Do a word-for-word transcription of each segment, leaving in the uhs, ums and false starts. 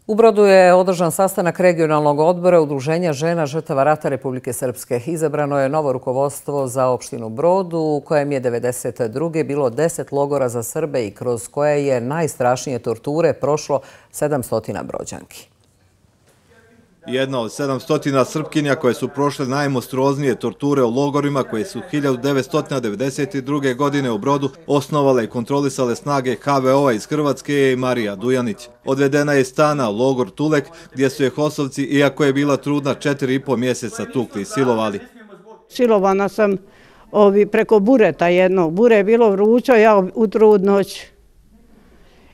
U Brodu je održan sastanak regionalnog odbora Udruženja žena žrtava rata Republike Srpske. Izabrano je novo rukovodstvo za opštinu Brodu, u kojem je devedeset druge bilo deset logora za Srbe i kroz koje je najstrašnije torture prošlo sedamsto Brođanki. Jedna od sedamsto Srpkinja koje su prošle najmonstruoznije torture u logorima koje su hiljadu devetsto devedeset druge. godine u Brodu osnovale i kontrolisale snage ha ve o-a iz Hrvatske je i Marija Dujanić. Odvedena je iz stana u logor Tulek gdje su je hosovci, iako je bila trudna četiri i po mjeseca, tukli i silovali. Silovana sam ovi, preko bureta jednog. Bure je bilo vrućo, ja u trudnoć.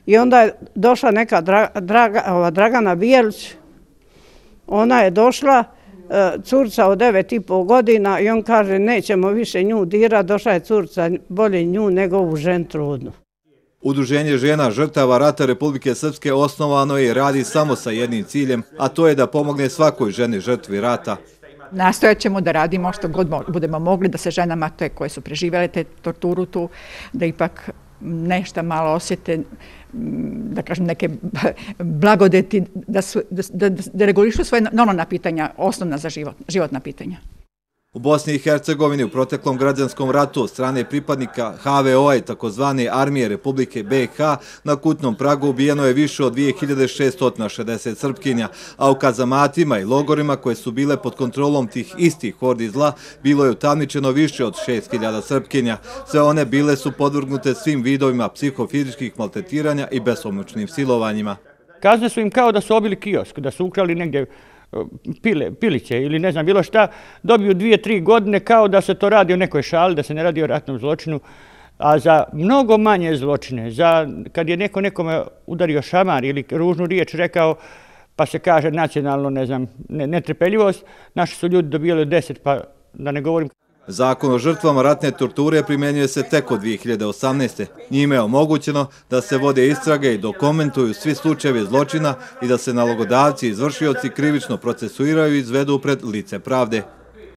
I onda je došla neka Dra, Draga, ova, Dragana Bijelić. Ona je došla, curca od devet i po godina i on kaže nećemo više nju dirati, došla je curca bolje nju nego ovu žen trudnu. Udruženje žena žrtava rata Republike Srpske osnovano je i radi samo sa jednim ciljem, a to je da pomogne svakoj ženi žrtvi rata. Nastojat ćemo da radimo što god budemo mogli, da se ženama te koje su preživjele te torturu tu, da ipak nešto malo osjete, da kažem, neke blagodeti, da, su, da, da, da regulišu svoje normalna pitanja, osnovna za život, životna pitanja. U Bosni i Hercegovini u proteklom građanskom ratu od strane pripadnika ha ve o-a i takozvane armije Republike be ha na kućnom pragu ubijeno je više od dvije hiljade šessto šezdeset Srpkinja, a u kazamatima i logorima koje su bile pod kontrolom tih istih hordi zla bilo je utamničeno više od šest hiljada Srpkinja. Sve one bile su podvrgnute svim vidovima psihofizičkih maltretiranja i besomučnim silovanjima. Kazne su im kao da su obili kiosk, da su ukrali negdje Pile, piliće ili ne znam bilo šta, dobiju dvije, tri godine kao da se to radi o nekoj šali, da se ne radi o ratnom zločinu, a za mnogo manje zločine, za kad je neko nekome udario šamar ili ružnu riječ rekao, pa se kaže nacionalno, ne znam, netrpeljivost, naši su ljudi dobijali deset, pa da ne govorim. Zakon o žrtvama ratne torture primjenjuje se tek od dvije hiljade osamnaeste. Njime je omogućeno da se vode istrage i dokumentuju svi slučajevi zločina i da se nalogodavci i izvršioci krivično procesuiraju i izvedu pred lice pravde.